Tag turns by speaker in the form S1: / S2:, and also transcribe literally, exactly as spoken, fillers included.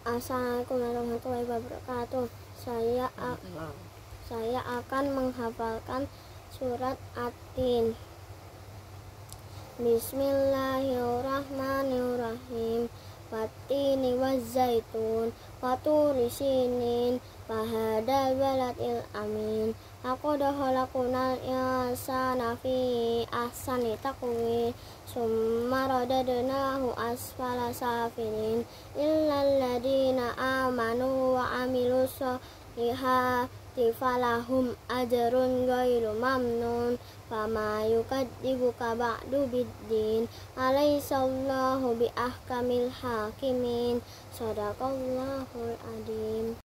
S1: Assalamualaikum warahmatullahi wabarakatuh. Saya saya akan menghafalkan surat At-Tin. Bismillahirrahmanirrahim. Wattini wazzaitun wa turi sinin wa hadal baladil amin. Laqad khalaqnal insana fi ahsani taqwim summa radadnahu asfala safilin illal ladina amanu wa amilus solihati falahum ajrun ghairu mamnun. Fama yukadzibuka ba'du biddin alaisallahu bi ahkamil hakimin. Shadaqallahul adzim.